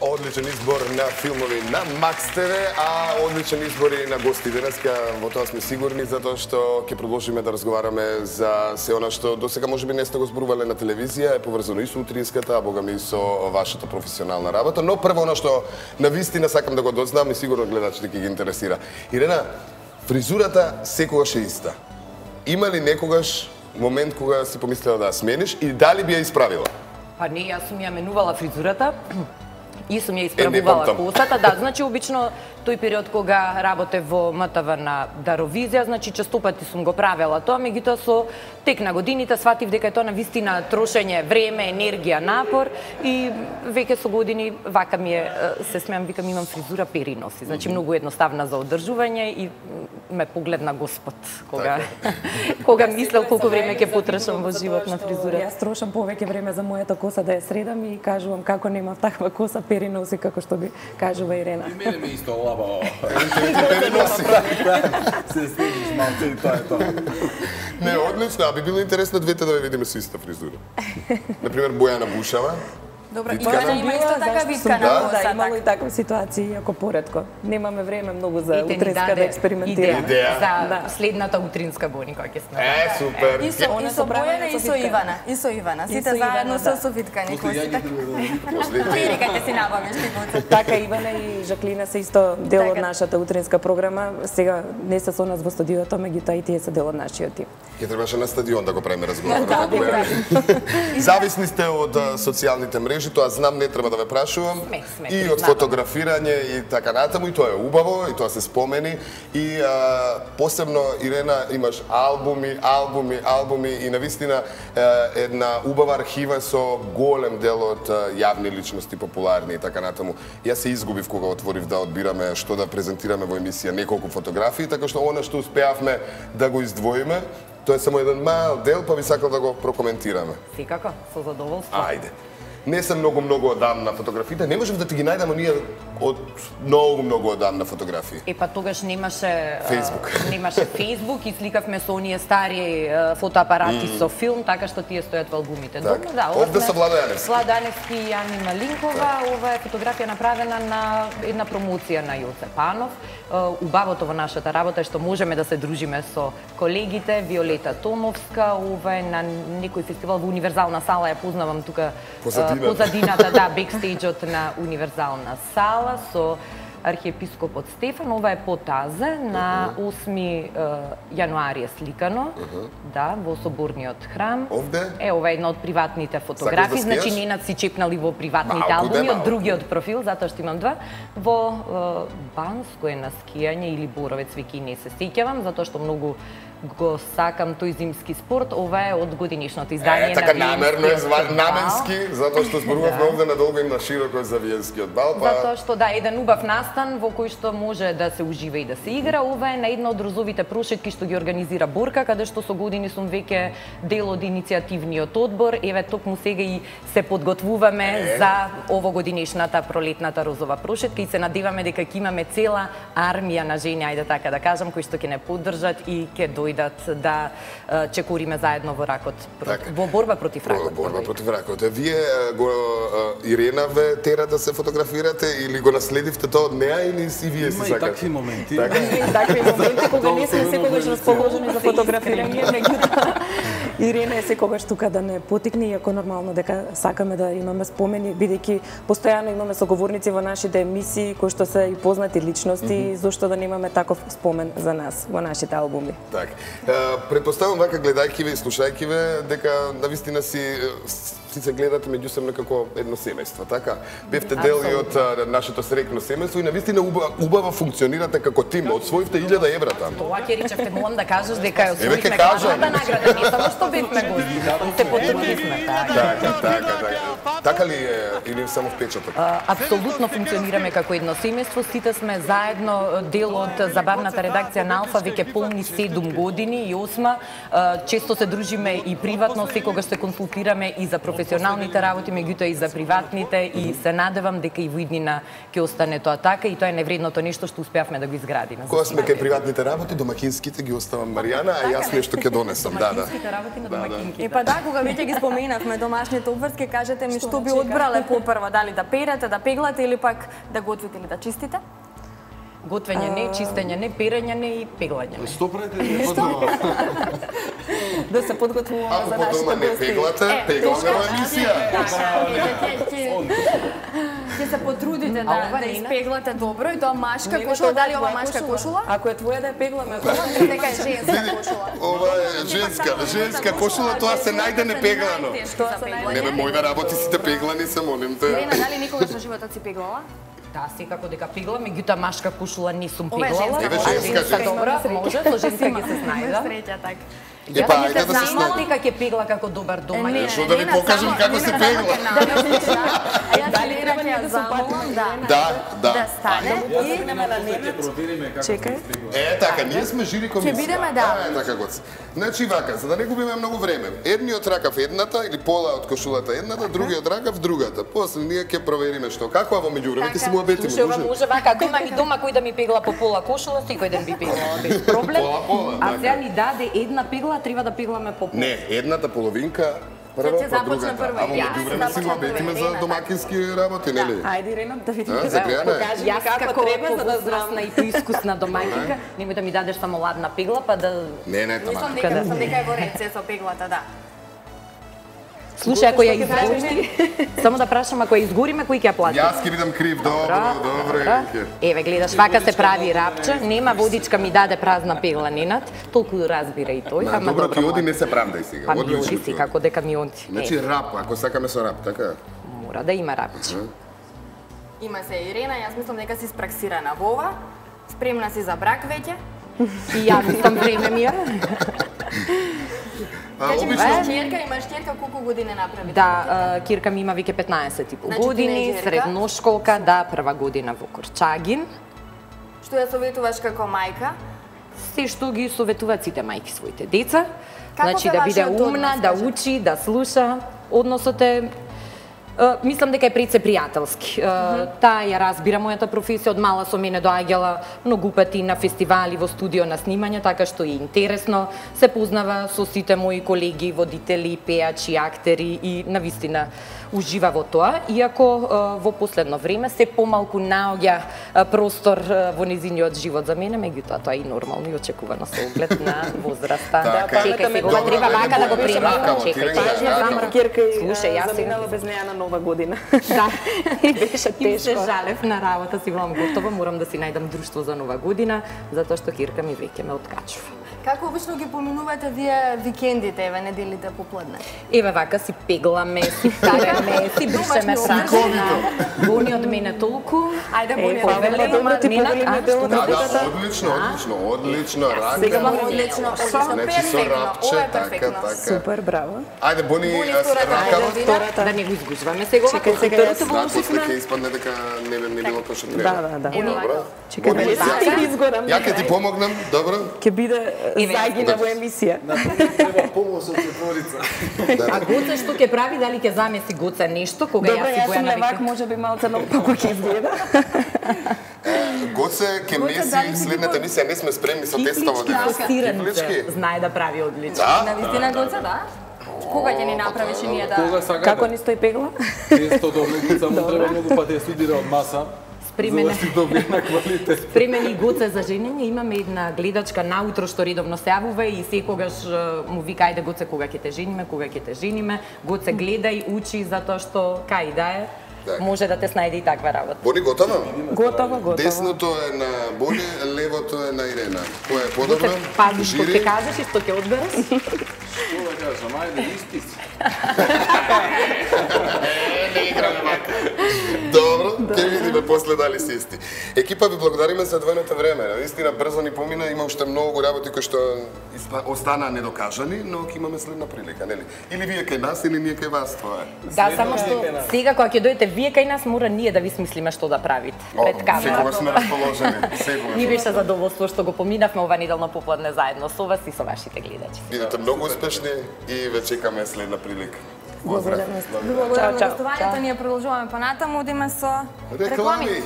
Одличен избор на филмови на Макс ТВ, а одличен избор и на гости денеска. Во тоа сме сигурни, затоа што ќе продолжиме да разговараме за се она што досега можеби не сте го зборувале на телевизија, е поврзано и со утринската, а богами и со вашата професионална работа. Но прво она што навистина сакам да го дознам и сигурно гледачите ќе ги интересира. Ирена, фризурата секогаш е иста. Има ли некогаш момент кога си помислила да ја смениш и дали би ја исправила? Па не, јас сум ја менувала фризурата и сум ја исправувала косата. Да, значи обично тој период кога работев во МТВ на Даровизија, значи честопати сум го правела тоа, меѓутоа со тек на годините сватив дека е тоа навистина трошење време, енергија, напор и веќе со години вака ми е, се смеам, викам имам фризура пери носи. Значи многу едноставна за одржување и ме погледна Господ кога мислел колку време ќе потрошам во живот на фризура. Јас трошам повеќе време за мојата коса да ја средам и кажувам како немав таква коса пери носи како што би кажува Ирена. И мене ми исто лабаво. Пери носи. Се следиш малце и тоа е тоа. Не, одлично, а би било интересно двете да ве видиме со иста фризура. Например, Бојана Бушава. Добро, Виткана. има исто така виткана Да, коса. Да, имало и такви ситуации, иако поретко. Немаме време многу за утринска да експериментираме. Идеја. За следната утринска гони која ќе сме. Супер. И со Бојана и со Ивана. И со Ивана. Сите заедно со виткани коси. Перикате си набавиш ти. Така Ивана и Жаклина се исто дел од нашата утринска програма. Сега не се со нас во студиото, меѓутоа и тие се дел од нашиот тим. Ќе требаше на стадион да го правиме разговорот. Зависни сте од социјалните мрежи, тоа знам, не треба да ве прашувам. И од фотографирање и така натаму, и тоа е убаво, и тоа се спомени. И посебно, Ирена, имаш албуми и навистина една убава архива со голем дел од јавни личности, популарни и така натаму. Јас се изгубив кога отворив да одбираме што да презентираме во емисија, неколку фотографии, така што она што успеавме да го издвоиме, тоа е само еден мал дел, па би сакал да го прокоментираме. Секако, со задоволство. Ајде. Не сам многу одамна фотографиите, не можев да ти ги најдам оние од многу одамна фотографии. Па тогаш немаше Facebook. Немаше Facebook и сликавме со оние стари фотоапарати со филм, така што тие стојат во албумите. Так. Овде со Владо Јаневски. Владо Јаневски и Јани Малинкова. Ова е фотографија направена на една промоција на Јоце Панов. Убавото во нашата работа е што можеме да се дружиме со колегите, Виолета Томовска, ова е на некој фестивал во Универзална сала, ја познавам тука позадината, да, бекстејџот на Универзална сала со архиепископот Стефан. Ова е по Тазе, на 8 јануари е сликано, да, во Соборниот храм. Овде? Ова е една од приватните фотографии, да значи ненад си чепнали во приватните албуми, од другиот профил, затоа што имам два. Во Банско е на скијање или Боровец, веќе не се сеќавам, затоа што многу го сакам тој зимски спорт. Ова е од годинишното издание така на намерно е наменски, затоа што зборувавме овде надолго и на широко за виенскиот бал, па затоа што да, еден убав настан во кој што може да се ужива и да се игра. Ова е на една од розовите прошетки што ги организира Борка, каде што со години сум веќе дел од иницијативниот одбор. Еве токму сега и се подготвуваме за овогодинешната пролетната розова прошетка и се надеваме дека ќе имаме цела армија на жени, ајде така да кажам, кои што ќе не поддржат и ќе дојдат да чекориме заедно во ракот, во борба против ракот. Борба против ракот. Вие го Ирена ве тера да се фотографирате или го наследивте тоа од неа или и вие си сакате? Има и такви моменти. Такви моменти кога не сме секогаш расположени за фотографирање, меѓутоа Ирена е секогаш тука да не потикне, иако нормално дека сакаме да имаме спомени, бидејќи постојано имаме соговорници во нашите емисии кои што се и познати личности, зошто да немаме таков спомен за нас во нашите албуми. Така. Предпоставам вака гледајќи ве и слушајќи ве дека навистина си се гледате меѓусебно како едно семејство, така? Бевте дел и од нашето срекно семејство и навистина убаво функционирате како тим. Освоивте 1000 евра таму. Тоа ќе речевте, молам да кажеш дека ја освоивме главната награда, не само што бевме гости, се потрудивме, така. Така ли е или само впечаток? Апсолутно функционираме како едно семејство, сите сме заедно дел од забавната редакција на Алфа веќе полни 7 години. години и 8, често се дружиме и приватно, секогаш се консултираме и за професионалните работи, меѓутоа и за приватните, и се надевам дека и во иднина ќе остане тоа така и тоа е невредното нешто што успеавме да го изградиме. Кога сме кај приватните работи, домакинските ги оставам Маријана, а јас нешто ќе донесам. Домакинските работи на домакинките. Па да, кога веќе ги споменавме домашните обврски, кажете ми што би одбрале попрво, дали да перете, да пеглате или пак да готвите или да чистите? Готвење не, чистење не, перење не и пеглање не. Што правите по дома? Да се подготвуваме за нашите нашите гости. Ако по дома не пеглате, пегламе емисија. Ќе се потрудите да испеглате добро и тоа машка кошула, дали ова машка кошула? Ако е твоја да ја пегламе, Дека е женска кошула. Ова е женска кошула, тоа се најде непеглано. Не бе, моите работи сите пеглани се, молим те. Ирена, дали никогаш во животот си пеглала? Да, секако дека пеглам, меѓутоа машка кошула не сум Ова е пеглала. женска Добра, може, со женска ќе се снајда. Среќа така. Епа, ајде да се знам дека ќе пегла како добар домаќин. Што да ви покажам како се пегла. Дали треба да замолам, да стане и чекај. Така, ние сме жири комисија. Ќе бидеме, да. Така гоц. Значи вака, за да не губиме многу време. Едниот ракав едната или пола од кошулата едната, другиот ракав другата. После ние ќе провериме што. Како во меѓувреме ќе се му обетиме. Слушај, може вака, ако имам и дома кој да ми пегла по пола кошула, секој ден би пеглала без проблем. А сега ни даде една пегла, треба да пегламе по пола. Не, едната половинка прво, Ќе започне прво. А во меѓувреме си го обетиме за домакински работи, нели? Ајде, Ирена, да видиме. Загреана е. Јас како возрастна и поискусна домаќинка, немој да ми дадеш само ладна пегла, па да... Не, тама. Мислам дека е во ред се со пеглата, да. Слушај, ако ја изгориме, само да прашам, ако ја изгориме, кој ќе ја плати? Јас ќе бидам крив, добро. Еве, гледаш, вака се прави рапче, нема водичка ми даде празна пегла ненат, толку разбира и тој, ама добро ти оди, не се правдај сега. Па ми оди си, како дека ми оди. Значи рап, ако сакаме со рап, така? Мора да има рапче. Има се Ирена, јас мислам дека си спраксирана во ова, спремна си за брак веќе. И ја мислам време ми е. Имаш ќерка, колку години направи? Да, Кирка ми има веќе 15 и пол години, средношколка, да, прва година во Корчагин. Што ја советуваш како мајка? Се што ги советуваат сите мајки своите деца. Како Значи се да биде вашиот умна, однос, да кажи? учи, да слуша. Односот е мислам дека е пред се пријателски. Таа ја разбира мојата професија, од мала со мене доаѓала многу пати на фестивали, во студио на снимање, така што е интересно. Се познава со сите мои колеги, водители, пеачи, актери и навистина ужива во тоа, иако во последно време се помалку наоѓа простор во незиниот живот за мене, меѓутоа тоа е и нормално и очекувано со оглед на возраста. Чекај сега, ова треба вака да го приемам. Чекај, Кирка и слушај, јас заминала без неа на Нова година. Да, и беше тешко. Се жалев на работа, си велам готова, морам да си најдам друштво за Нова година, затоа што Кирка ми веќе ме откачува. Како обично ги поминувате вие викендите, еве неделите попладне? Еве вака си пегламе, си караме, си бришеме срачина. Бони од мене толку. Ајде, Бони, Добро ти повелиме дело на Да, одлично, Сега рака. одлично, Значи со рапче, ова е така, перфектно. така. Супер, браво. Ајде, Бони, ракава. Втората. Да не го изгужваме сега ова, Чекај, сега второто јас. во Да, после усифна. ќе испадне дека не било тоа што треба. Да. Добро. Чекај, дали си ти изгорам? Ја ќе ти помогнам, добро? Ќе биде загина во емисија. Треба помош од четворица. А Гоце што ќе прави, дали ќе замеси Гоце нешто, кога Добро, јас си јас сум Бојана левак, веќе... може би малце наопако ќе изгледа. Гоце ќе меси следната емисија, не сме спремни со тестово денес. Кифлички знае да прави одлично. На вистина Гоца, да? Кога ќе ни направиш и ние да... Кога сакате? Како ни стои пегла? Тесто добро, само треба многу пати да студира од маса. За да си добие на квалитет. При мене и Гоце за женење имаме една гледачка наутро што редовно се јавува и секогаш му вика ајде Гоце кога ќе те жениме, кога ќе те жениме. Гоце гледај, учи затоа што кај да е. Може да те снајде и таква работа. Бони, готова? Готово. Десното е на Бони, левото е на Ирена. Која е подобро? Пази што ќе кажеш и што ќе одбереш. Што да кажам, ајде исписи. Добро, ќе видиме после дали си исти. Екипа, ви благодариме за двојното време. Наистина брзо ни помина, има уште многу работи кои што останаа недокажани, но ќе имаме следна прилика, нели? Или вие кај нас, или ние кај вас, тоа е. Да, само што сега кога ќе дојдете вие кај нас, мора ние да ви смислиме што да правите пред камера. Секогаш сме расположени, секогаш. Ни беше задоволство што го поминавме ова неделно попладне заедно со вас и со вашите гледачи. Бидете многу успешни и ве чекаме следна прилика. Благодарам. Благодарам на гостувањето, ние продолжуваме понатаму, одиме со реклами.